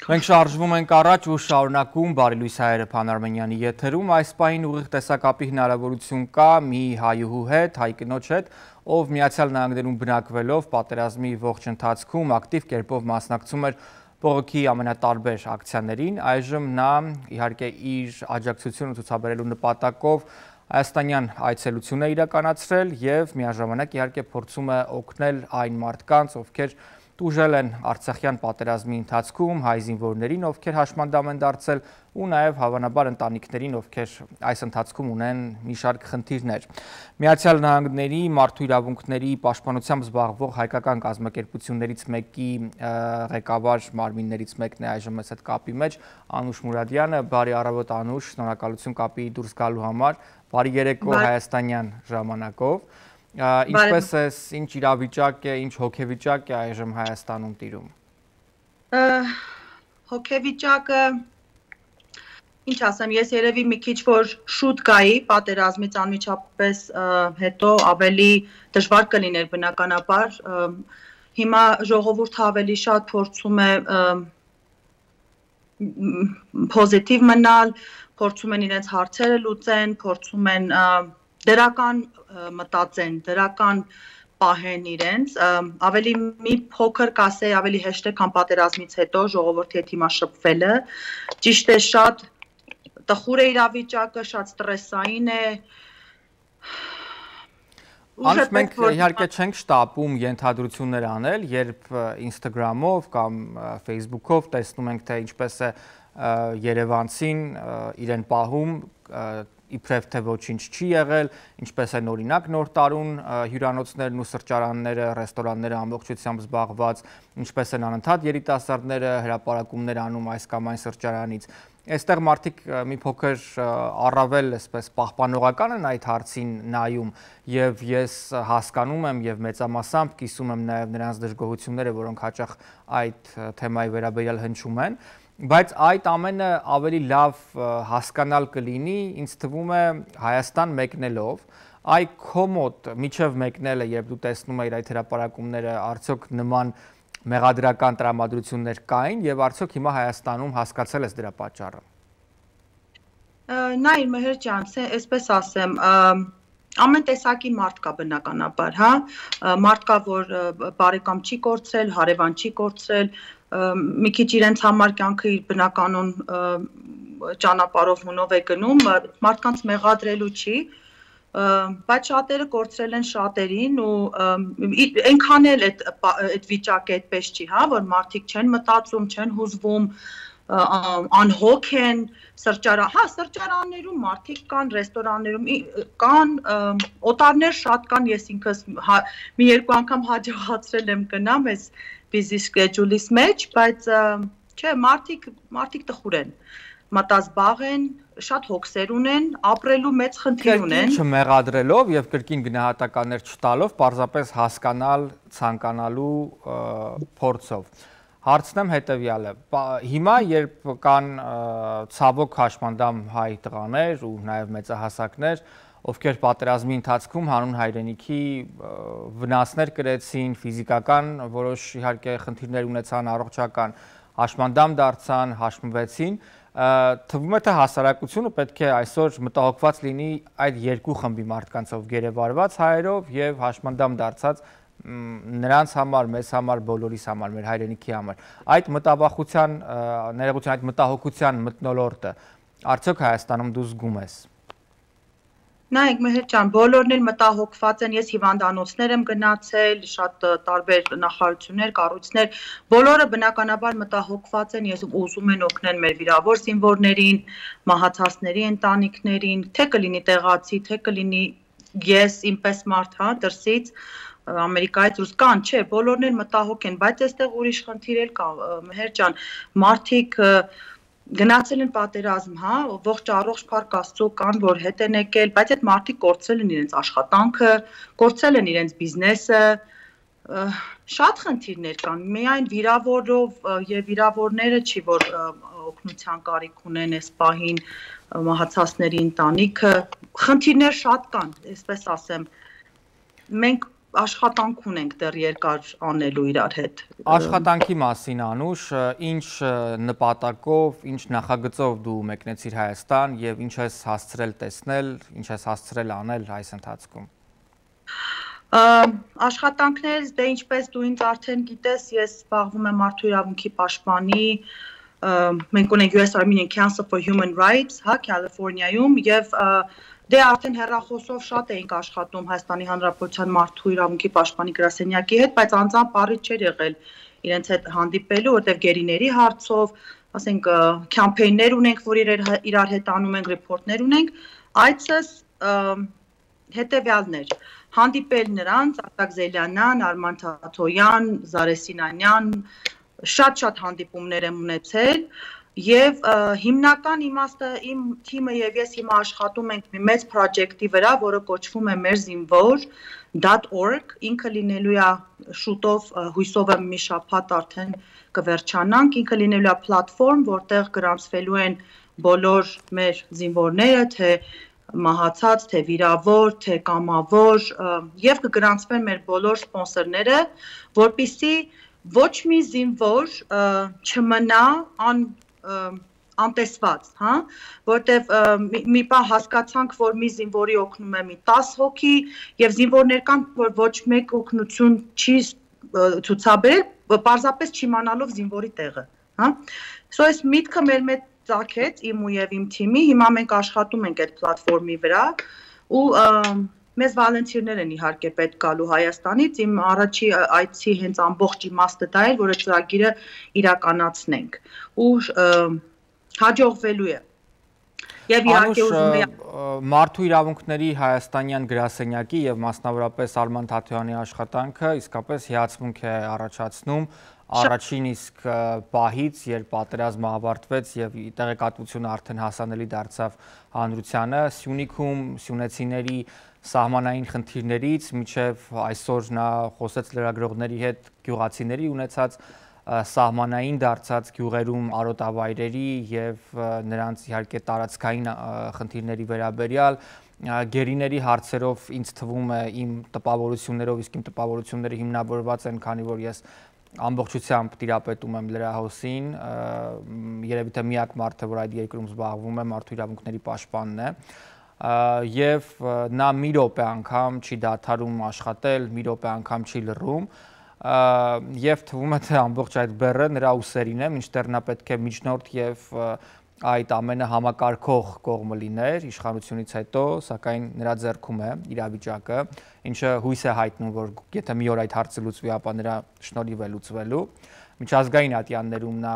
Մենք շարժվում ենք առաջ ու շարունակում Բարի լույս հայերը Փան Արմենյանի եթերում այս պահին ուղիղ տեսակապի հնարավորություն կա մի հայուհու հետ, հայ կնոջ հետ, ով Միացյալ Նահանգներում բնակվելով պատերազմի ողջ ընթացքում ակտիվ կերպով մասնակցում էր բողոքի ամենատարբեր ակցիաներին, այժմ նա իհարկե իր աջակցությունը ցուցաբերելու նպատակով հայաստանյան այցելություն է իրականացրել եւ միաժամանակ իհարկե փորձում է օգնել այն մարդկանց, ովքեր տուժել են Արցախյան պատերազմի ընթացքում հայ զինվորներին, ովքեր հաշմանդամ են դարձել ու նաև հավանաբար ընտանիքներին, ովքեր այս ընթացքում ունեն մի շարք խնդիրներ։ Միացյալ Նահանգների մարդու իրավունքների պաշտպանությամբ զբաղվող հայկական կազմակերպություններից մեկի ղեկավար մարմիններից մեկն է այժմ մեզ հետ կապի մեջ, Անուշ Մուրադյանը։ Բարի առավոտ Անուշ, շնորհակալություն կապի դուրս գալու համար։ Բարի երեկո հայաստանյան ժամանակով։ Ինչպես ես, ինչ իրավիճակ է, ինչ հոգեվիճակ է այժմ Հայաստանում տիրում։ Հոգեվիճակը, ինչ ասեմ, ես երևի մի քիչ որ շուտ գայի պատերազմից անմիջապես հետո ավելի դժվար կլիներ բնականաբար։ Հիմա ժողովուրդը ավելի շատ փորձում է պոզիտիվ մնալ, փորձում են իրենց հարցերը լուծեն, փորձում են դրական մտածեն, դրական պահեն իրենց, ավելի մի փոքր կասեի, ավելի հեշտ է, քան պատերազմից հետո ժողովրդի հետ հիմա շփվելը, ճիշտ է, շատ տխուր է իրավիճակը, շատ ստրեսային է։ Անց մենք իհարկե չենք շտապում ենթադրություններ անել, երբ Instagram-ով կամ Facebook-ով տեսնում ենք, թե ինչպես է երևանցին իրեն պահում, իբրև թե ոչինչ չի եղել, ինչպես են օրինակ նոր տարուն հյուրանոցներն ու սրճարանները, ռեստորանները ամբողջությամբ զբաղված, ինչպես են անընդհատ երիտասարդները հրապարակումներ անում այս կամ այն սրճարանից։ Այստեղ մարդիկ մի փոքր առավել այսպես պահպանողական են այդ հարցին նայում եւ ես հասկանում եմ եւ մեծամասամբ կիսում եմ նաեւ նրանց դժգոհությունները, որոնք հաճախ այդ թեմայի վերաբերյալ հնչում են, բայց այդ ամենը ավելի լավ հասկանալ կլինի, ինձ թվում է Հայաստան մեկնելով, այ քո մոտ միջև մեկնելը, երբ դու տեսնում ես այդ հրապարակումները, արդյոք նման մեղադրական տրամադրություններ կային եւ արդյոք հիմա Հայաստանում հասկացել ես դրա պատճառը։ Նայ Մեհեր ջան, այսպես ասեմ, ամեն տեսակի մարդ կա բնականաբար, հա, մարդ կա, որ բարեկամ չի կորցրել, հարևան չի կորցրել, մի քիչ իրենց համար կյանքը իր բնականon ճանապարհով հունով է գնում, մարդկանց մեղադրելու չի, բայց շատերը կորցրել են շատերին ու այնքան էլ այդ վիճակը այդպես չի, հա, որ մարդիկ չեն մտածում, չեն հուզվում, անհոգ են, սրճարաններում մարդիկ կան, ռեստորաններում կան, օտարներ շատ կան, ես ինքս մի երկու անգամ հաջողացրել եմ գնամ այս busy schedule-իս մեջ, բայց չէ, մարդիկ տխուր են, մտազբաղ են, շատ հոգսեր ունեն, ապրելու մեծ խնդիր ունեն։ Կրկին չմեղադրելով եւ կրկին գնահատականներ չտալով, պարզապես հասկանալ, ցանկանալու փորձով։ Հարցնեմ հետևյալը, հիմա երբ կան ցավոք հաշմանդամ հայ տղաներ ու նաև մեծահասակներ, ովքեր պատերազմի ընթացքում հանուն հայրենիքի վնասներ կրեցին, ֆիզիկական որոշ իհարկե խնդիրներ ունեցան, առողջական, հաշմանդամ դարձան, հաշմվեցին, թվում է թե հասարակությունը պետք է այսօր մտահոգված լինի այդ երկու խմբի մարդկանցով, գերեվարված հայերով եւ հաշմանդամ դարձած նրանց համար, մեզ համար, բոլորիս համար, մեր հայրենիքի համար։ Այդ մտավախության, ներողություն, այդ մտահոգության մթնոլորտը արդյոք Հայաստանում դու զգում ես։ Նայեք Մեհեր ջան, բոլորն էլ մտահոգված են, ես հիվանդանոցներ եմ գնացել, շատ տարբեր նախարարություններ, կառույցներ, բոլորը բնականաբար մտահոգված են, ես ուզում են օգնել մեր վիրավոր զինվորներին, մահացածների ընտանիքներին, թե կլինի տեղացի, թե կլինի ես ինպես մարդ, հա, դրսից Ամերիկայից դուրս կան, չէ, բոլորն էլ մտահոգ են, բայց այստեղ ուրիշ խնդիր էլ կա, Մեհեր ջան, մարդիկ գնացել են պատերազմ, հա, ողջ առողջ փառք Աստծո կան, որ հետ են եկել, բայց այդ մարդիկ կորցրել են իրենց աշխատանքը, կորցրել են իրենց բիզնեսը, շատ խնդիրներ կան, միայն վիրավորով եւ վիրավորները չի, որ օգնության կարիք ունեն այս պահին մահացածների ընտանիքը, խնդիրներ շատ կան, այսպես ասեմ, մենք աշխատանք ունենք դեռ երկար անելու իրար հետ։ Աշխատանքի մասին Անուշ, ինչ նպատակով, ինչ նախագծով դու մեկնեցիր Հայաստան եւ ինչ ես հասցրել տեսնել, ինչ ես հասցրել անել այս ընթացքում։ Աշխատանքներ, դե ինչպես դու ինձ արդեն գիտես, ես զբաղվում եմ մարդու իրավունքի պաշտպանի, մենք ունենք US Armenian Council for Human Rights, հա, Կալիֆոռնիայում եւ դե արդեն հեռախոսով շատ էինք աշխատում Հայաստանի Հանրապետության մարդու իրավունքի պաշտպանի գրասենյակի հետ, բայց անձամբ առիթ չէր եղել իրենց հետ հանդիպելու, որտեղ գերիների հարցով, ասենք, կամփեյններ ունենք, որ իրար հետ անում ենք, ռիփորտներ ունենք, այցս հետեւյալն էր, հանդիպել նրանց, Արտակ Զելյանյան, Արման Թաթոյան, Զարե Սինանյան, շատ հանդիպումներ եմ ունեցել Եվ հիմնական իմաստը իմ թիմը եւ ես հիմա աշխատում ենք մի մեծ պրոջեկտի վրա, որը կոչվում է մեր զինվոր.org, ինքը լինելու է շուտով հույսով եմ մի շաբաթ արդեն կվերջանանք, ինքը լինելու է պլատֆորմ, որտեղ գրանցվելու են բոլոր մեր զինվորները, թե մահացած, թե վիրավոր, թե կամավոր եւ կգրանցվեն մեր բոլոր սպոնսորները, որպեսզի ոչ մի զինվոր չմնա անտեսված, հա, որտեվ մի բան հասկացանք, որ մի զինվորի օգնում է մի 10 հոգի եւ զինվորներ կան, որ ոչ մեկ օգնություն չի ցուցաբերել, պարզապես չիմանալով զինվորի տեղը, հա։ Սա այս միտքը մեր մեջ ծագեց իմ ու եւ իմ թիմի, հիմա մենք աշխատում ենք այդ պլատֆորմի վրա ու մեզ վոլոնտիրներ են իհարկե պետք գալու Հայաստանից, իմ առաջի այցի հենց ամբողջ իմաստը դա էր, որը ծրագիրը իրականացնենք ու հաջողվելու է։ Եվ իհարկե ուզում եմ Մարդու իրավունքների հայաստանյան գրասենյակի եւ մասնավորապես Արման Թաթոյանի աշխատանքը իսկապես հիացմունք է առաջացնում առաջին իսկ պահից, երբ պատերազմը ավարտվեց եւ տեղեկատվությունը արդեն հասանելի դարձավ հանրությանը, Սյունիքում սյունեցիների սահմանային խնդիրներից մինչև այսօր նա խոսեց լրագրողների հետ գյուղացիների ունեցած սահմանային դարձած գյուղերում արոտավայրերի եւ նրանց իհարկե տարածքային խնդիրների վերաբերյալ գերիների հարցերով ինձ թվում է իմ տպավորություններով, իսկ իմ տպավորությունները հիմնավորված են, քանի որ ես ամբողջությամբ տիրապետում եմ լրահոսին, երևի թե միակ մարդը, որ այդ երկրում զբաղվում է, մարդու իրավունքների պաշտպանն է, եւ նա մի րոպե անգամ չի դադարում աշխատել, մի րոպե անգամ չի լռում, եւ թվում է թե ամբողջ այդ բեռը նրա ուսերին է, մինչդեռ նա պետք է միջնորդ եւ այդ ամենը համակարգող կողմը լիներ իշխանությունից հետո, սակայն նրա ձեռքում է իրավիճակը, ինչը հույս է հայտնում, որ եթե մի օր այդ հարցը լուծվի, ապա նրա շնորհիվ է լուծվելու։ Միջազգային ատյաններում նա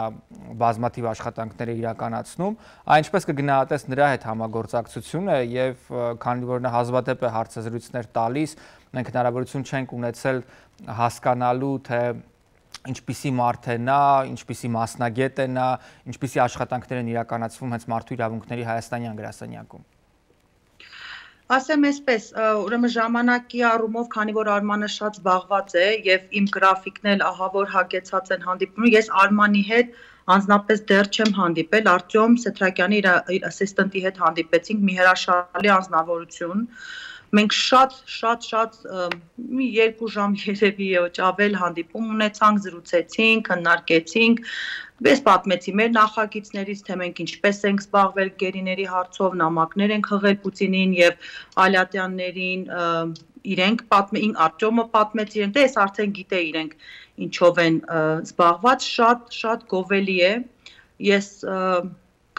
բազմաթիվ աշխատանքներ է իրականացնում, այնպես կգնահատես նրա հետ համագործակցությունը եւ քանի որ նա հազվադեպ է հարցազրույցներ տալիս, մենք հնարավորություն չենք ունեցել հասկանալու թե ինչպիսի մարդ է նա, ինչպիսի մասնագետ է նա, ինչպիսի աշխատանքներ են իրականացվում հենց մարդու իրավունքների հայաստանյան գրասենյակում։ Ասեմ այսպես, ուրեմն ժամանակի առումով, քանի որ Արմանը շատ զբաղված է եւ իմ գրաֆիկն էլ ահա որ հագեցած են հանդիպում, ես Արմանի հետ անձնապես դեռ չեմ հանդիպել, Արտյոմ Սեթրակյանի իր ասիստենտի հետ հանդիպեցինք, մի հրաշալի անձնավորություն։ Մենք շատ մի 2 ժամ երևի ավել հանդիպում ունեցանք, զրուցեցինք, քննարկեցինք, ես պատմեցի մեր նախագիծներից, թե մենք ինչպես ենք զբաղվել գերիների հարցով, նամակներ ենք հղել Պուտինին եւ Ալյատյաններին, իրենք Արտյոմը պատմեց իրենք, դե ես արդեն գիտեի իրենք ինչով են զբաղված, շատ գովելի է։ Ես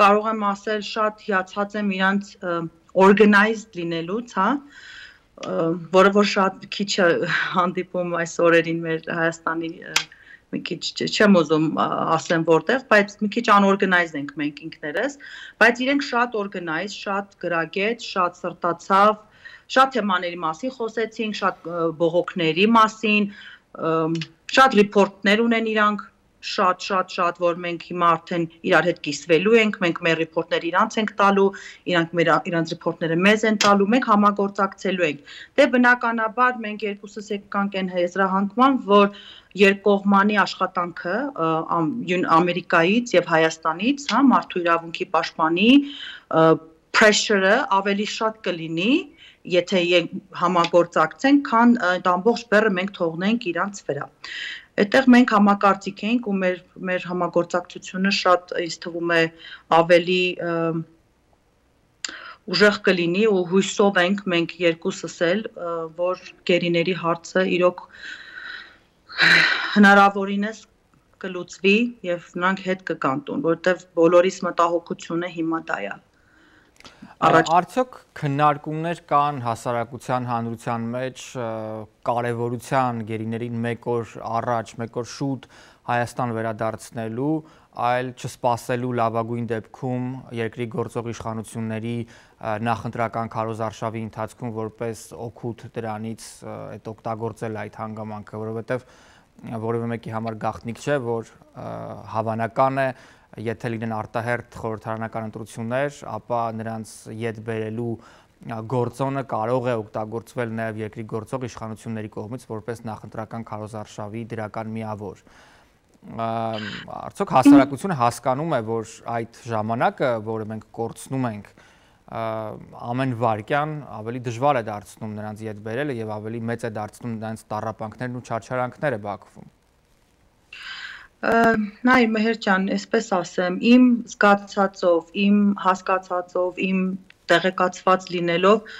կարող եմ ասել, շատ հիացած եմ իրանց organized լինելուց, հա, որը որ շատ քիչ հանդիպում այս օրերին մեր Հայաստանի մի քիչ չեմ ուզում ասեմ որտեղ, բայց մի քիչ unorganized ենք մենք ինքներս, բայց իրենք շատ organized, շատ գրագետ, շատ սրտացավ, շատ թեմաների մասին խոսեցինք, շատ բողոքների մասին, շատ ռիփորտներ ունեն իրանք, շատ, որ մենք հիմա արդեն իրար հետ կիսվելու ենք, մենք մեր ռիփորտները իրանց ենք տալու, իրանք իրանց ռիփորտները մեզ են տալու, մենք համագործակցելու ենք։ Դե բնականաբար մենք երկուսս եկանք այն եզրահանգման, որ երկկողմանի աշխատանքը Ամերիկայից եւ Հայաստանից, մարդու իրավունքի պաշտպանի pressure-ը ավելի շատ կլինի եթե համագործակցենք, քան այդ ամբողջ բեռը մենք թողնենք իրանց վրա։ Այդտեղ մենք համակարծիք էինք ու մեր համագործակցությունը շատ ինձ թվում է ավելի ուժեղ կլինի ու հույսով ենք մենք երկուսս էլ, որ գերիների հարցը իրոք հնարավորինս կլուծվի եւ նրանք հետ կգան տուն, որովհետեւ բոլորիս մտահոգությունը հիմա դա է։ Արդյոք քննարկումներ կան հասարակության հանրության մեջ կարևորության գերիներին մեկ օր առաջ, մեկ օր շուտ Հայաստան վերադարձնելու, այլ չսպասելու լավագույն դեպքում երկրի գործող իշխանությունների նախընտրական քարոզարշավի ընթացքում որպես օգուտ դրանից այդ օգտագործել այդ հանգամանքը, որովհետև որևէ մեկի համար գաղտնիք չէ, որ հավանական է, եթե լինեն արտահերթ խորհրդարանական ընտրություններ, ապա նրանց ետ բերելու գործոնը կարող է օգտագործվել նաև երկրի գործող իշխանությունների կողմից որպես նախընտրական քարոզարշավի դրական միավոր։ Արդյոք հասարակությունը հասկանում է, որ այդ ժամանակը, որը մենք կորցնում ենք, ամեն վայրկյան ավելի դժվար է դարձնում նրանց ետ բերելը եւ ավելի մեծ է դարձնում նրանց տառապանքներն ու չարչարանքները Բաքվում։ Նայ Մեհեր ջան, այսպես ասեմ, իմ զգացածով, իմ հասկացածով, իմ տեղեկացված լինելով,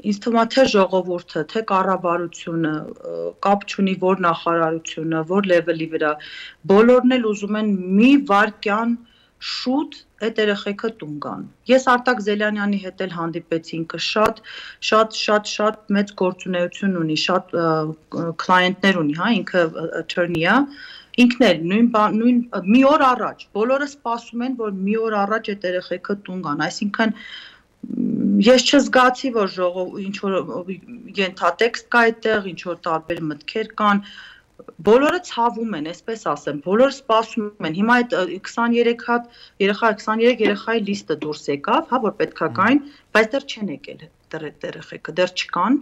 ինձ թվում է թե ժողովուրդը, թե կառավարությունը, կապ չունի որ նախարարությունը, որ լեվելի վրա, բոլորն էլ ուզում են մի վայրկյան շուտ այդ երեխեքը տուն գան։ Ես Արտակ Զելյանյանի հետ էլ հանդիպեցի, ինքը շատ մեծ գործունեություն ունի, շատ կլայենտներ ունի, հա, ինքը attorney է, ինքն էլ նույն մի օր առաջ, բոլորը սպասում են, որ մի օր առաջ այդ երեխեքը տուն գան, այսինքն ես չզգացի, որ ինչ որ ենթատեքստ կա այդտեղ, ինչ որ տարբեր մտքեր կան, բոլորը ցավում են, այսպես ասեմ, բոլորը սպասում են։ Հիմա այդ 23 հատ երեխա, 23 երեխայի լիստը դուրս եկավ, հա, որ պետքա գային, բայց դեռ չեն եկել այդ երեխեքը, դեռ չկան։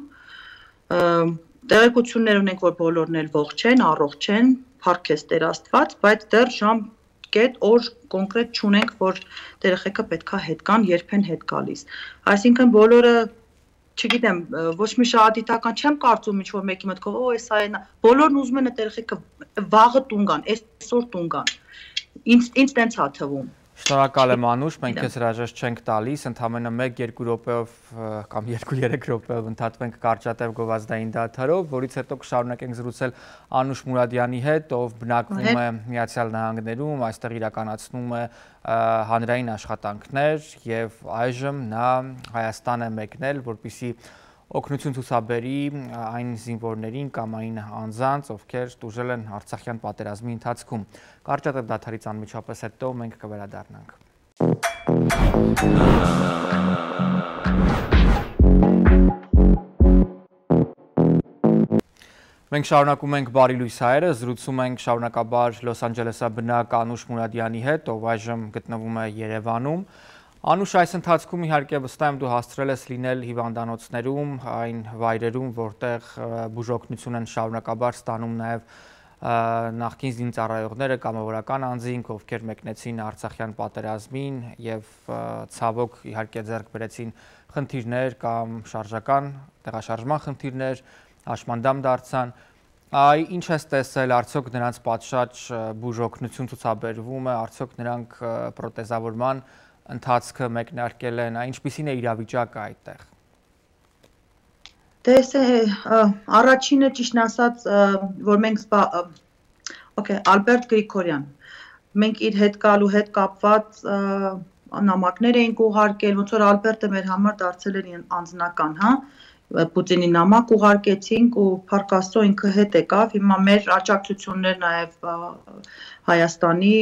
Տեղեկություններ ունենք, որ բոլորն էլ ողջ են, առողջ են, փառք ես Տեր Աստված, բայց դեռ ժամ կետ օր կոնկրետ չունենք, որ երեխեքը պետքա հետ գան, երբ են հետ գալիս։ Այսինքն բոլորը չգիտեմ, ոչ մի շահադիտական չեմ կարծում ինչ որ մեկի մտքով, էս այն, բոլորն ուզում են այդ երեխեքը վաղը տուն գան, այսօր տուն գան։ Ինձ տենց է թվում։ Շնորհակալ եմ Անուշ, մենք քեզ հրաժեշտ չենք տալիս, ընդամենը 1-2 րոպեով կամ 2-3 րոպեով ընդհատվենք կարճատև գովազդային դադարով, որից հետո կշարունակենք զրուցել Անուշ Մուրադյանի հետ, ով բնակվում է Միացյալ Նահանգներում, այստեղ իրականացնում է հանրային աշխատանքներ եւ այժմ նա Հայաստան է մեկնել, որպեսզի օգնություն ցուցաբերի այն զինվորներին կամ այն անձանց, ովքեր տուժել են Արցախյան պատերազմի ընթացքում։ Կարճատև դադարից անմիջապես հետո մենք կվերադառնանք։ Մենք շարունակում ենք Բարի լույս հայերը, զրուցում ենք շարունակաբար Լոս Անջելեսաբնակ Անուշ Մուրադյանի հետ, ով այժմ գտնվում է Երևանում։ Անուշ, այս ընթացքում իհարկե վստահ եմ դու հասցրել ես լինել հիվանդանոցներում, այն վայրերում, որտեղ բուժօգնություն են շարունակաբար ստանում նաև նախկին զինծառայողները, կամավորական անձինք, ովքեր մեկնեցին Արցախյան պատերազմին եւ ցավոք իհարկե ձեռք բերեցին խնդիրներ կամ շարժական տեղաշարժման խնդիրներ, հաշմանդամ դարձան։ Ինչ ես տեսել, արդյոք նրանց պատշաճ բուժօգնություն ցուցաբերվում է, արդյոք նրանք պրոթեզավորման ընթացքը մեկնարկել են, ինչպիսին է իրավիճակը այդտեղ։ Դե առաջինը ճիշտն ասած, որ մենք Ալբերտ Գրիգորյան, մենք իր հետ գալու հետ կապված նամակներ էինք ուղարկել, ոնց որ Ալբերտը մեր համար դարձել էր անձնական, հա, Պուտինի նամակ ուղարկեցինք ու փառք Աստծո ինքը հետ եկավ, հիմա մեր աջակցություններ նաև Հայաստանի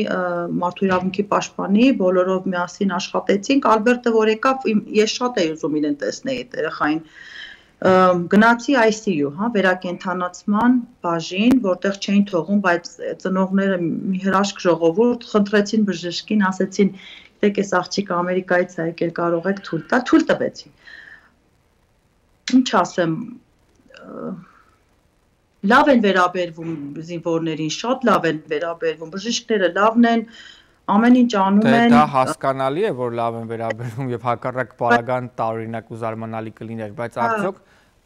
մարդու իրավունքի պաշտպանի, բոլորով միասին աշխատեցինք, Ալբերտը որ եկավ, ես շատ էի ուզում իրեն տեսնել այդ երեխային, գնացի ICU, հա, վերակենդանացման բաժին, որտեղ չէին թողում, բայց ծնողները մի հրաշք ժողովուրդ խնդրեցին բժշկին, ասեցին, գիտեք, այս աղջիկը Ամերիկայից է եկել, կարող եք թույլ տալ, թույլ տվեցին։ Ինչ ասեմ, լավ են վերաբերվում զինվորներին, շատ լավ են վերաբերվում, բժիշկները լավն են, ամեն ինչ անում են։ Դա հասկանալի է, որ լավ են վերաբերվում եւ հակառակ պարագան տարօրինակ ու զարմանալի կլիներ, բայց արդյոք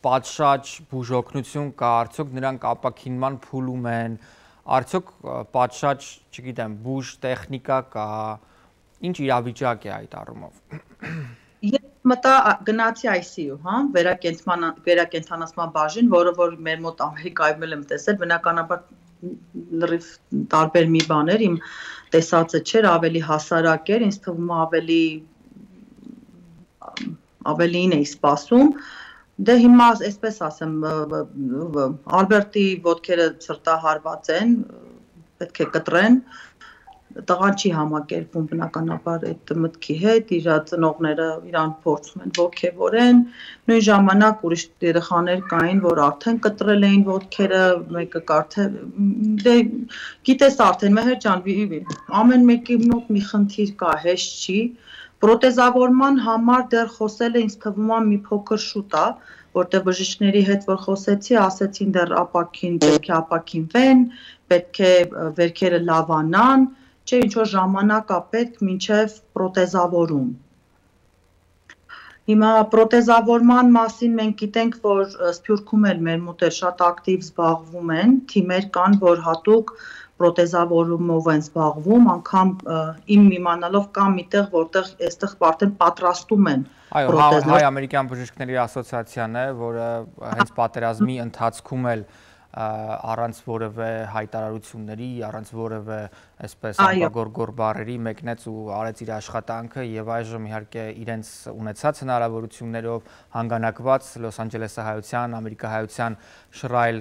պատշաճ բուժօգնություն կա, արդյոք նրանք ապակինման փուլում են, արդյոք պատշաճ, չգիտեմ, բուժ տեխնիկա կա, ինչ իրավիճակ է այդ առումով։ Ես մտա գնացի ICU, հա, վերակենդանացման բաժին, որը որ մեր մոտ Ամերիկայում եմ տեսել, բնականաբար լրիվ տարբեր մի բաներ, իմ տեսածը չէր, ավելի հասարակ էր, ինձ թվում ավելին էի սպասում, դե հիմա այսպես ասեմ, Ալբերտի ոտքերը սրտահարված են, պետք է կտրեն, տղան չի համակերպում բնականաբար այդ մտքի հետ, իր ծնողները իրան փորձում են ոգևորեն, նույն ժամանակ ուրիշ երեխաներ կային, որ արդեն կտրել էին ոտքերը, մեկը կարդել, դե գիտես արդեն Մեհեր ջան, ամեն մեկի մոտ մի խնդիր կա, հեշտ չի, պրոթեզավորման համար դեռ խոսելը ինձ թվում է մի փոքր շուտ է, որտեղ բժիշկների հետ որ խոսեցի, ասեցին դեռ պետք է ապակինվեն, պետք է վերքերը լավանան, չէ, ինչ-որ ժամանակ է պետք մինչև պրոթեզավորում։ Հիմա պրոթեզավորման մասին մենք գիտենք, որ Սփյուռքում էլ մեր մոտ շատ ակտիվ զբաղվում են, թիմեր կան, որ հատուկ պրոթեզավորումով են զբաղվում, անգամ իմ իմանալով կա միտեղ, որտեղ այստեղ արդեն պատրաստում են պրոթեզներ։ Հայ-ամերիկյան բժիշկների ասոցիացիան է, որը հենց պատերազմի ընթացքում էլ առանց որևէ հայտարարությունների, առանց որևէ այսպես ապագորգոր բառերի մեկնեց ու արեց իր աշխատանքը եւ այժմ իհարկե իրենց ունեցած հնարավորություններով հանգանակված Լոս Անջելեսի հայության, ամերիկահայության շռայլ,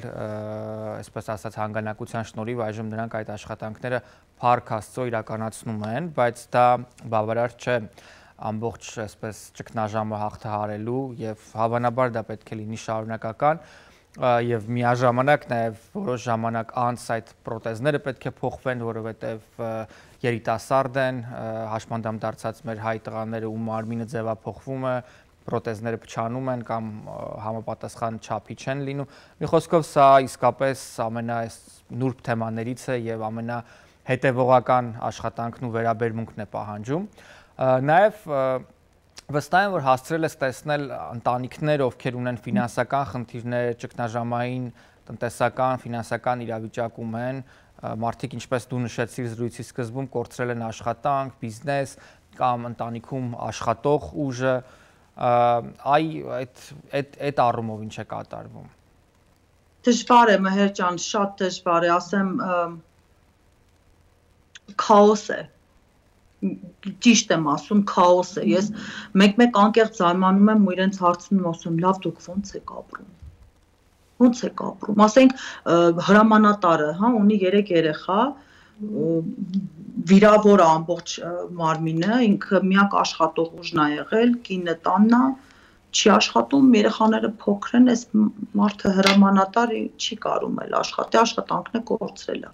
այսպես ասած հանգանակության շնորհիվ այժմ նրանք այդ աշխատանքները փառք Աստծո իրականացնում են, բայց դա բավարար չէ ամբողջ այսպես ճգնաժամը հաղթահարելու եւ հավանաբար դա պետք է լինի շարունակական եւ միաժամանակ նաեւ որոշ ժամանակ անց այդ պրոթեզները պետք է փոխվեն, որովհետեւ երիտասարդ են, հաշմանդամ դարձած մեր հայ տղաները ու մարմինը ձևափոխվում է, պրոթեզները փչանում են կամ համապատասխան չափի չեն լինում։ Մի խոսքով սա իսկապես ամենանուրբ թեմաներից է եւ ամենահետեւողական աշխատանքն ու վերաբերմունքն է պահանջում։ Նաեւ վստահ եմ, որ հասցրել ես տեսնել ընտանիքներ, ովքեր ունեն ֆինանսական խնդիրներ, ճգնաժամային, տնտեսական, ֆինանսական իրավիճակում են, մարդիկ, ինչպես դու նշեցիր զրույցի սկզբում, կորցրել են աշխատանք, բիզնես կամ ընտանիքում աշխատող ուժը, այդ առումով ինչ է կատարվում։ Դժվար է, Մեհեր ջան, շատ դժվար է, ասեմ, քաոս է։ Ճիշտ եմ ասում, քաոս է, ես մեկ-մեկ անկեղծ զարմանում եմ ու իրենց հարցնում ասում, լավ դուք ոնց եք ապրում, ասենք հրամանատարը, հա, ունի 3 երեխա, վիրավոր է ամբողջ մարմինը, ինքը միակ աշխատող ուժն է եղել, կինը տանն է, չի աշխատում, երեխաները փոքր են, այս մարդը հրամանատար չի կարում էլ աշխատի, աշխատանքն է կորցրել է։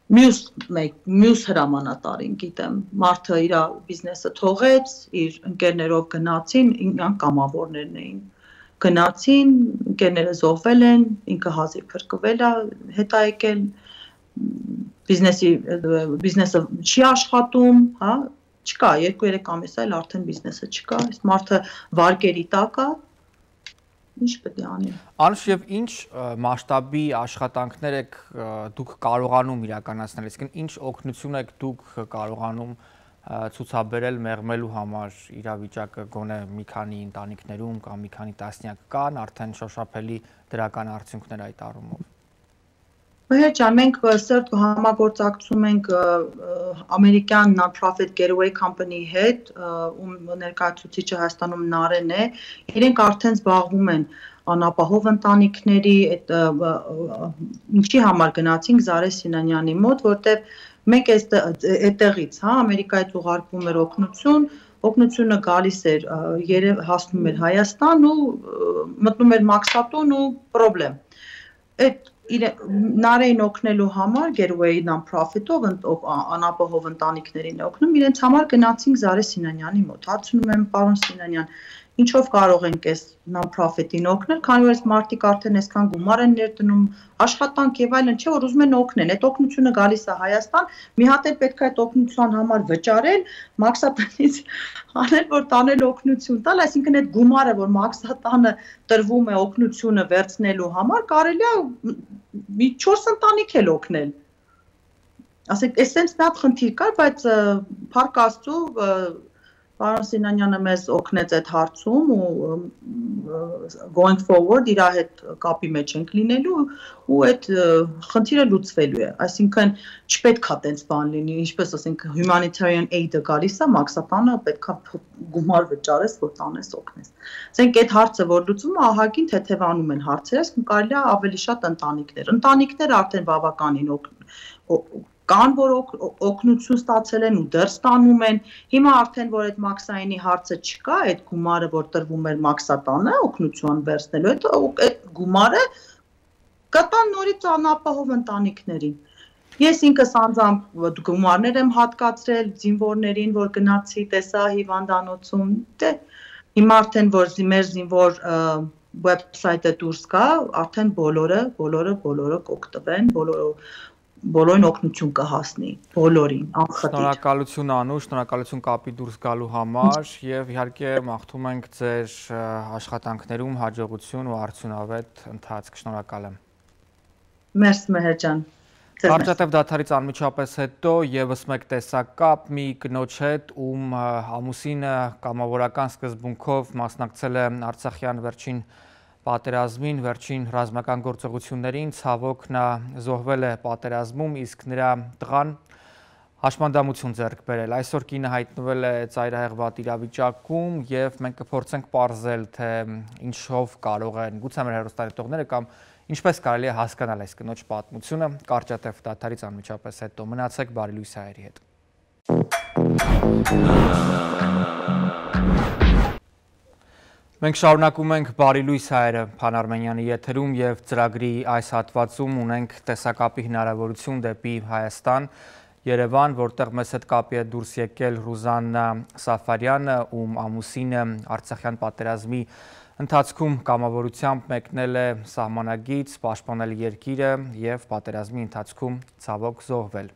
Մյուս հրամանատարին գիտեմ, մարդը իր բիզնեսը թողեց, իր ընկերներով գնացին, իրանք կամավորներն էին, գնացին, ընկերները զոհվել են, ինքը հազիվ փրկվել է, հետա եկել, բիզնեսը չի աշխատում, հա, չկա, 2-3 ամիս այլ արդեն բիզնեսը չկա, այս մարդը վարկերի տակ է, ինչ պետք է անի։ Անշ եւ ինչ մասշտաբի աշխատանքներ եք դուք կարողանում իրականացնել, այսինքն ինչ օգնություն եք դուք կարողանում ցուցաբերել մեղմելու համար իրավիճակը գոնե մի քանի ընտանիքներում կամ մի քանի տասնյակ կան արդեն շոշափելի դրական արդյունքներ այդ առումով։ Մեհեր ջան, մենք սերտ համագործակցում ենք ամերիկյան non-profit getaway company հետ, ում ներկայացուցիչը Հայաստանում Նարեն է, իրենք արդեն զբաղվում են անապահով ընտանիքների, ինչի համար գնացինք Զարե Սինանյանի մոտ, որտեղ մենք այդտեղից, հա, Ամերիկայից ուղարկվում էր օգնությունը գալիս էր, հասնում էր Հայաստան ու մտնում էր Մաքսատուն ու պրոբլեմ։ Այդ Նարեին օգնելու համար Getaway non-profit-ով անապահով ընտանիքներին օգնում, իրենց համար գնացինք Զարե Սինանյանի մոտ, հարցնում եմ, պարոն Սինանյան, ինչով կարող ենք այս non-profit-ին օգնել, քանի որ այս մարդիկ արդեն այսքան գումար են ներդնում, աշխատանք եւ այլն, չէ՞ որ ուզում են օգնել։ Այդ օգնությունը գալիս է Հայաստան, մի հատ էլ պետք է այդ օգնության համար վճարել, մաքսատանից անել, որ տանել օգնություն տալ, այսինքն այդ գումարը, որ մաքսատանը տրվում է օգնությունը վերցնելու համար, կարելի է մի 4 ընտանիք էլ օգնել։ Ասենք, այսպես մի հատ խնդիր կար, բայց փառք Աստծո, պարոն Սինանյանը մեզ օգնեց այդ հարցում ու going forward իր հետ կապի մեջ ենք լինելու ու այդ խնդիրը լուծվելու է։ Այսինքն չպետք է տենց բան լինի, ինչպես ասենք humanitarian aid-ը գալիս է, մաքսատանը պետք է գումար վճարես, որ տանես օգնես։ Ասենք այդ հարցը, որ լուծվում է, ահագին թեթևանում են հարցերը, այսինքն կարելի է ավելի շատ ընտանիքներ արդեն բավականին կան, որ օգնություն ստացել են ու դեռ ստանում են, հիմա արդեն, որ այդ մաքսայինի հարցը չկա, այդ գումարը, որ տրվում էր մաքսատանը, օգնություն վերցնելու, այդ գումարը կտան նորից անապահով ընտանիքներին։ Ես ինքս անձամբ գումարներ եմ հատկացրել զինվորներին, որ գնացի, տեսա հիվանդանոցում, դե հիմա արդեն, որ մեր զինվոր website-ը դուրս գա, արդեն բոլորը կօգտվեն, բոլորին օգնություն կհասնի, բոլորին, անխտիր։ Շնորհակալություն Անուշ, շնորհակալություն կապի դուրս գալու համար եւ իհարկե մաղթում ենք ձեր աշխատանքներում հաջողություն ու արդյունավետ ընթացք։ Շնորհակալ եմ։ Մերսի Մեհեր ջան։ Կարճատև դադարից անմիջապես հետո եւս մեկ տեսակապ մի կնոջ հետ, ում ամուսինը կամավորական սկզբունքով մասնակցել է Արցախյան վերջին պատերազմին, վերջին ռազմական գործողություններին, ցավոք նա զոհվել է պատերազմում, իսկ նրա տղան հաշմանդամություն ձեռք բերել։ Այսօր կինը հայտնվել է ծայրահեղ վատ իրավիճակում եւ մենք կփորձենք պարզել, թե ինչով կարող են գուցե մեր հեռուստադիտողները կամ ինչպես կարելի է հասկանալ այս կնոջ պատմությունը։ Կարճատև դադարից անմիջապես հետո մնացեք բարի լույս հայերի հետ։ Մենք շարունակում ենք բարի լույս հայերը Փան Արմենյանի եթերում եւ ծրագրի այս հատվածում ունենք տեսակապի հնարավորություն դեպի Հայաստան, Երևան, որտեղ մեզ հետ կապի է դուրս եկել Ռուզաննա Սաֆարյանը, ում ամուսինը Արցախյան պատերազմի ընթացքում կամավորությամբ մեկնել է սահմանագից, պաշտպանել երկիրը եւ պատերազմի ընթացքում ցավոք զոհվել։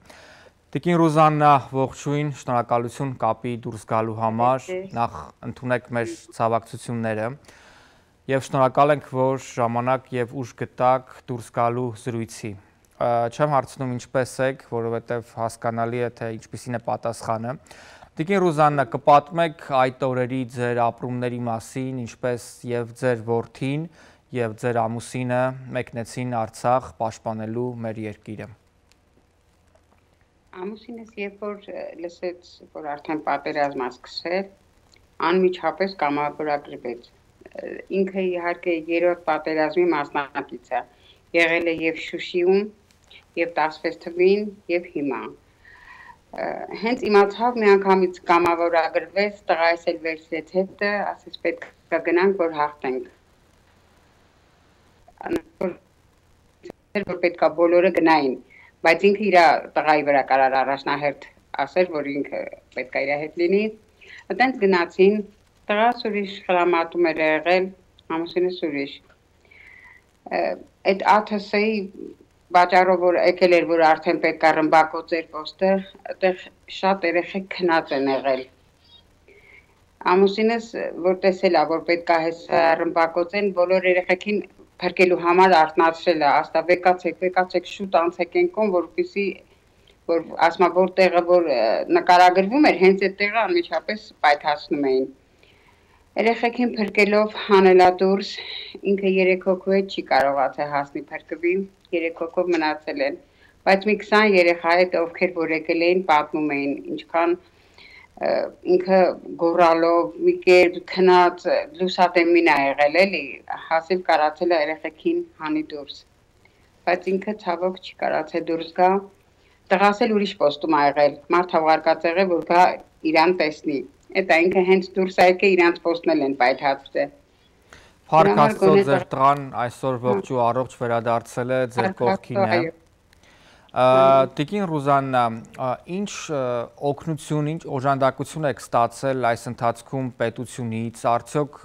Տիկին Ռուզաննա, ողջույն, շնորհակալություն կապի դուրս գալու համար, նախ ընդունեք մեր ցավակցությունները եւ շնորհակալ ենք, որ ժամանակ եւ ուժ գտաք դուրս գալու զրույցի։ Չեմ հարցնում ինչպես եք, որովհետեւ հասկանալի է, թե ինչպիսին է պատասխանը։ Տիկին Ռուզաննա, կպատմեք այդ օրերի ձեր ապրումների մասին, ինչպես եւ ձեր որդին եւ ձեր ամուսինը մեկնեցին Արցախ պաշտպանելու մեր երկիրը։ Ամուսինս երբ որ լսեց, որ արդեն պատերազմը սկսել, անմիջապես կամավորագրվեց։ Ինքը իհարկե երրորդ պատերազմի մասնակից է, եղել է եւ Շուշիում, եւ 16 թվին, եւ հիմա։ Հենց իմացավ մի անգամից կամավորագրվեց, տղայս էլ վերցրեց հետը, ասես պետք է գնանք, որ հաղթենք։ Որ պետք է բոլորը գնային, բայց ինքը իր տղայի վրա կարար առաջնահերթ ասել, որ ինքը պետք է իր հետ լինի։ Այդտենց գնացին, տղաս ուրիշ խրամատում էր եղել, ամուսինս ուրիշ։ Այդ ԱԹՍ-ի բաժարով որ եկել էր, որ արդեն պետք է ռմբակոց էր պոստը, այդտեղ շատ երեխեք քնած են եղել։ Ամուսինս որ տեսել է, որ պետք է հեսա ռմբակոծեն, բոլոր երեխեքին փրկելու համար արթնացրել է, ասա վեկացեք շուտ անցեք ենքոն, որպեսզի որ ասма որ տեղը որ նկարագրվում էր, հենց այդ տեղը անմիջապես պայթացնում էին։ Երեխեքին փրկելով հանելա դուրս, ինքը 3 հոգու հետ չի կարողացել հասնի փրկվի, 3 հոգով մնացել են, բայց մի 20 երեխա հետ ովքեր որ եկել էին պատմում էին, ինչքան ինքը գորալով մի կերպ քնած լուսատեմին է եղել էլի, հասիվ կարացել է երեխեքին հանի դուրս, բայց ինքը ցավոք չի կարացել դուրս գա, տղաս էլ ուրիշ պոստում ա եղել, մարդ հավարկած եղել, որ գա իրան տեսնի, էտա ինքը հենց դուրս ա եկել իրանց պոստն էլ են պայթացրել։ Փառք Աստծո, ձեր տղան այսօր ողջ ու առողջ վերադարձել է ձեր կողքին է։ Տիկին Ռուզաննա, ինչ օգնություն, ինչ օժանդակություն եք ստացել այս ընթացքում պետությունից, արդյոք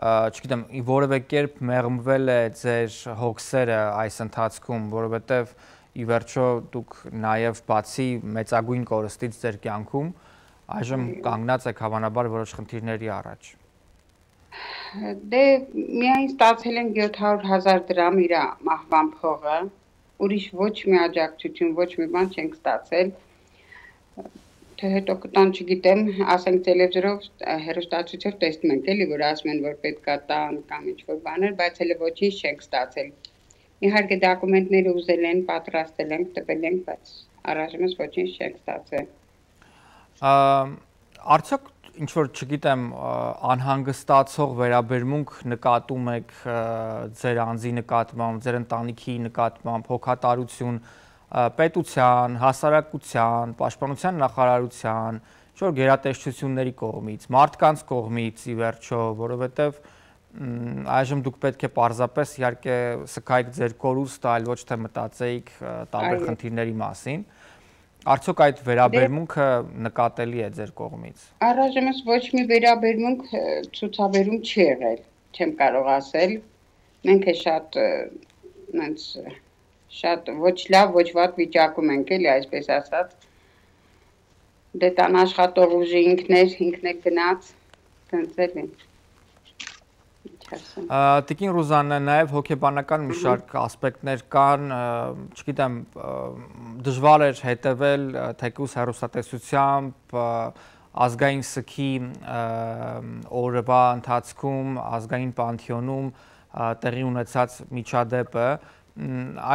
չգիտեմ, որևէ կերպ մեղմվել է ձեր հոգսերը այս ընթացքում, որովհետև ի վերջո դուք նաև բացի մեծագույն կորստից ձեր կյանքում, այժմ կանգնած եք հավանաբար որոշ խնդիրների առաջ։ Դե միայն ստացել ենք 700,000 դրամ իր մահվան փողը, ուրիշ ոչ մի աջակցություն, ոչ մի բան չենք ստացել, թե հետո կտան չգիտեմ, ասենք տելևիզորով, հեռուստացույցով տեսնում ենք էլի, որ ասում են, որ պետք է տան կամ ինչ-որ բաներ, բայց հենց ոչինչ չենք ստացել։ Իհարկե դոկումենտները ուզել են, պատրաստել ենք, տվել ենք, բայց առայժմ ոչինչ չենք ստացել։ Արդյոք ինչ-որ չգիտեմ անհանգստացող վերաբերմունք նկատում եք ձեր անձի նկատմամբ, ձեր ընտանիքի նկատմամբ, հոգատարություն պետության, հասարակության, պաշտպանության նախարարության, ինչ-որ գերատեսչությունների կողմից, մարդկանց կողմից ի վերջո, որովհետև այժմ դուք պետք է պարզապես իհարկե սկայք ձեր կորուստը, այլ ոչ թե մտածեիք տարբեր խնդիրների մասին։ Արդյոք այդ վերաբերմունքը նկատելի է ձեր կողմից։ Առայժմ ոչ մի վերաբերմունք ցուցաբերում չի եղել, չեմ կարող ասել։ Մենք է շատ ոչ լավ, ոչ վատ վիճակում ենք էլի, այսպես ասած։ Դե տան աշխատող ուժի ինքն է գնաց, տենց էլի։ Տիկին Ռուզաննա, նաև հոգեբանական մի շարք ասպեկտներ կան, չգիտեմ, դժվար էր հետևել թեկուզ հեռուստատեսությամբ ազգային սգի օրվա ընթացքում, ազգային պանթեոնում տեղի ունեցած միջադեպը,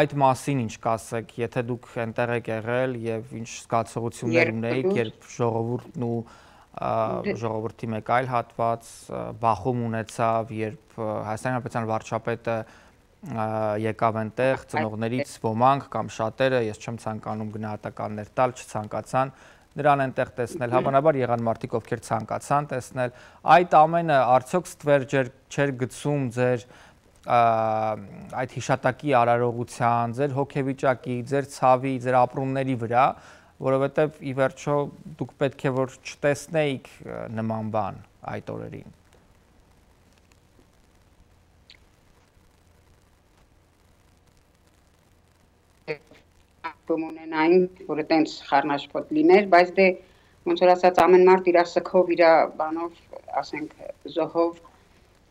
այդ մասին ինչ կասեք, եթե դուք այնտեղ եք եղել եւ ինչ զգացողություններ ունեիք, երբ ժողովուրդն ու ժողովրդի մեկ այլ հատված բախում ունեցավ, երբ Հայաստանի Հանրապետության վարչապետը եկավ այնտեղ, ծնողներից ոմանք կամ շատերը, ես չեմ ցանկանում գնահատականներ տալ, չցանկացան նրան այնտեղ տեսնել, հավանաբար եղան մարդիկ, ովքեր ցանկացան տեսնել, այդ ամենը արդյոք ստվեր չէր գցում ձեր այդ հիշատակի արարողության, ձեր հոգեվիճակի, ձեր ցավի, ձեր ապրումների վրա, որովհետև ի վերջո դուք պետք է որ չտեսնեիք նման բան այդ օրերին։ Ունենային, որ այտենց խառնաշփոթ լիներ, բայց դե ոնց որ ասած ամեն մարդ իր սքով, իր բանով, ասենք զոհով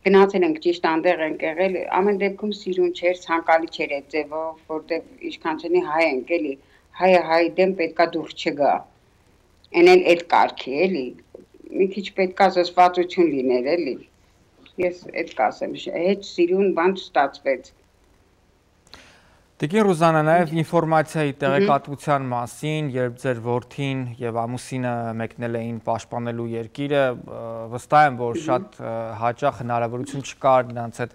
գնացել ենք ճիշտ այնտեղ ենք եղել, ամեն դեպքում սիրուն չէր, ցանկալի չէր այդ ձևով, որտեղ ինչքանչնի հայ ենք էլի, հայը հայ դեմ պետքա դուրս չգա։ Էն էլ այդ կարգի էլի, մի քիչ պետքա զսպվածություն լիներ էլի։ Ես այդ կասեմ, հետ սիրուն բան չստացվեց։ Տիկին Ռուզաննա, նաև ինֆորմացիայի տեղեկատվության մասին, երբ ձեր որդին եւ ամուսինը մեկնել էին պաշտպանելու երկիրը, վստահ եմ, որ շատ հաճախ հնարավորություն չկար նրանց հետ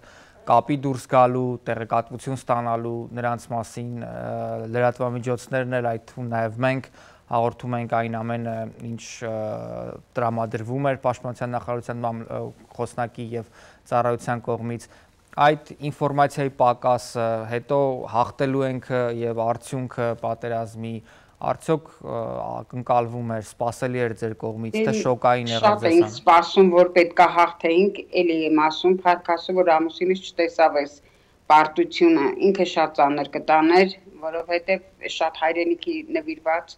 կապի դուրս գալու, տեղեկատվություն ստանալու նրանց մասին, լրատվամիջոցներն էլ այդ թվում նաև մենք հաղորդում ենք այն ամենը, ինչ տրամադրվում էր պաշտպանության նախարարության խոսնակի եւ ծառայության կողմից։ Այդ ինֆորմացիայի պակասը, հետո հաղթելու ենք եւ արդյունքը պատերազմի, արդյոք ակնկալվում էր, սպասելի էր ձեր կողմից, թե շոկային եղավ ձեզ։ Շատ ենք սպասում, որ պետքա հաղթեինք, էլի եմ ասում, փառքասը, որ ամուսինս չտեսավ այս պարտությունը, ինքը շատ ծանր կտաներ, որովհետեւ շատ հայրենիքի նվիրված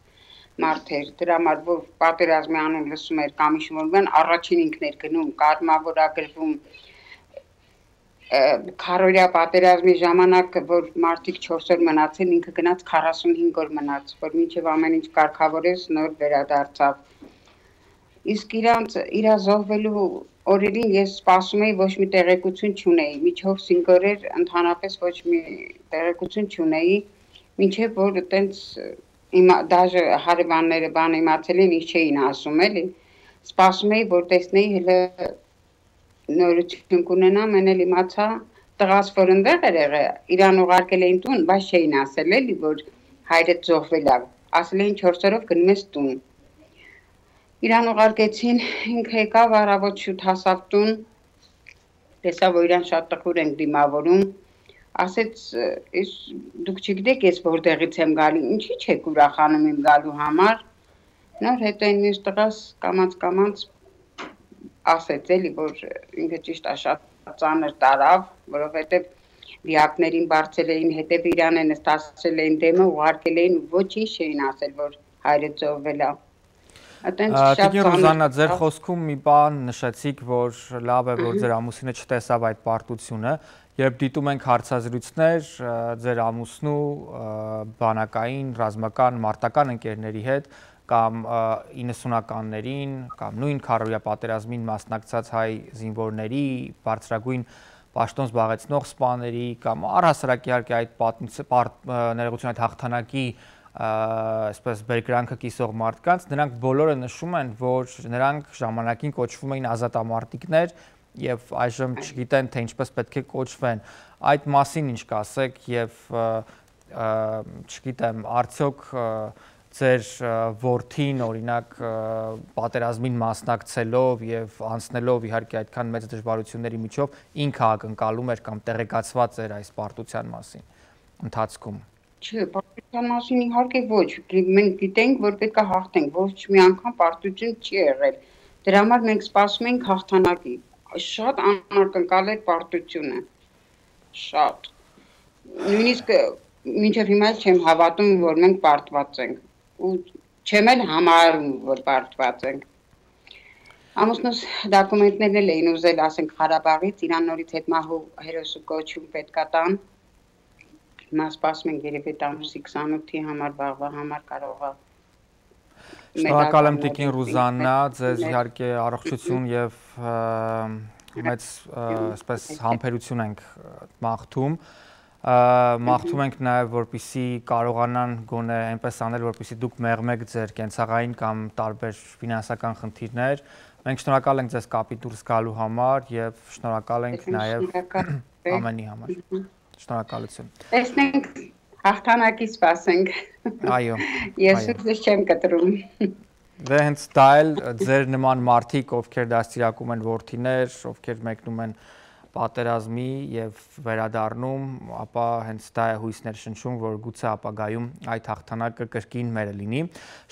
մարդ էր, դրա համար որ պատերազմի անուն լսում էր կամ ինչ-որ բան, առաջին ինքն էր գնում, կազմավորագրվում քարորյա պատերազմի ժամանակ, որ մարդիկ 4 օր մնացին, ինքը գնաց 45 օր մնաց, որ մինչև ամեն ինչ կարգավորեց, նոր վերադարձավ։ Իսկ իր զոհվելու օրերին ես սպասում էի, ոչ մի տեղեկություն չունեի, միջով 5 օրեր ընդհանրապես ոչ մի տեղեկություն չունեի, մինչև որ այտենց դաժե հարևանները բան իմացել են, ինչ չէին ասում էլի, սպասում էի, որ տեսնեի հələ նորություն կունենամ, են էլ իմացա, տղաս որ ընդեղ էր եղել, իրան ուղարկել էին տուն, բայց չէին ասել էլի, որ հայրդ զոհվել է, ասել էին 4 օրով գնում ես տուն։ Իրան ուղարկեցին, ինքը եկավ առավոտ շուտ հասավ տուն, տեսավ որ իրան շատ տխուր են դիմավորում, ասեց դուք չգիտեք ես որտեղից եմ գալու, ինչի՞ չեք ուրախանում իմ գալու համար։ Նոր հետո այն մյուս տղաս կամաց ասեց էլի, որ ինքը ճիշտ է շատ ծանր տարավ, որովհետև դիակներին բարձել էին, հետև իրան են ստացել էին դեմը, ուղարկել էին, ոչինչ չէին ասել, որ հայրը ծովվել է։ Տիկին Ռուզաննա, ձեր խոսքում մի բան նշեցիք, որ լավ է, որ ձեր ամուսինը չտեսավ այդ պարտությունը, երբ դիտում ենք հարցազրույցներ ձեր ամուսնու բանակային, ռազմական, մարտական ընկերների հետ, կամ 90-ականներին, կամ նույն քարոզիա պատերազմին մասնակցած հայ զինվորների, բարձրագույն պաշտոն զբաղեցնող սպաների, կամ առհասարակ իհարկե այդ ներողություն այդ հաղթանակի այսպես բերկրանքը կիսող մարդկանց, նրանք բոլորը նշում են, որ նրանք ժամանակին կոչվում էին ազատամարտիկներ եւ այժմ չգիտեն, թե ինչպես պետք է կոչվեն։ Այդ մասին ինչ կասեք եւ չգիտեմ, արդյոք ձեր որդին օրինակ պատերազմին մասնակցելով եւ անցնելով իհարկե այդքան մեծ դժվարությունների միջով ինքը ակնկալում էր կամ տեղեկացված էր այս պարտության մասին ընթացքում։ Չէ, պարտության մասին իհարկե ոչ, մենք գիտենք, որ պետք է հաղթենք, ոչ մի անգամ պարտություն չի եղել։ Դրա համար մենք սպասում ենք հաղթանակի։ Շատ անակնկալ էր պարտությունը։ Շատ։ Նույնիսկ մինչև հիմա չեմ հավատում, որ մենք պարտված ենք։ Ու չեմ էլ համարում, որ պարտված ենք։ Ամուսնուս դոկումենտներն էլ էին ուզել, ասենք Ղարաբաղից, իրան նորից հետ մահու հերոսու կոչում պետքա տան։ Հիմա սպասում ենք երևի ամսի 28-ի համար, վաղվա համար կարող է։ Շնորհակալ եմ Տիկին Ռուզաննա, ձեզ իհարկե առողջություն եւ մեծ այսպես համբերություն ենք մաղթում։ Մաղթում ենք նաև, որպեսզի կարողանան գոնե այնպես անել, որպեսզի դուք մեղմեք ձեր կենցաղային կամ տարբեր ֆինանսական խնդիրներ։ Մենք շնորհակալ ենք ձեզ կապի դուրս գալու համար եւ շնորհակալ ենք նաև ամենի համար։ Շնորհակալություն։ Տեսնենք հաղթանակի սպասենք։ Այո։ Ես ուզում չեմ կտրում։ Դե հենց դա էլ ձեր նման մարդիկ, ովքեր դաստիարակում են որդիներ, ովքեր մեկնում են պատերազմի եւ վերադառնում, ապա հենց դա է հույսներ շնչում, որ գուցե ապագայում այդ հաղթանակը կրկին մերը լինի։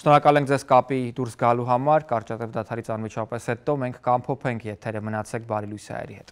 Շնորհակալ ենք ձեզ կապի դուրս գալու համար, կարճատև դադարից անմիջապես հետո մենք կամփոփենք եթերը, մնացեք բարի լույսի հայերի հետ։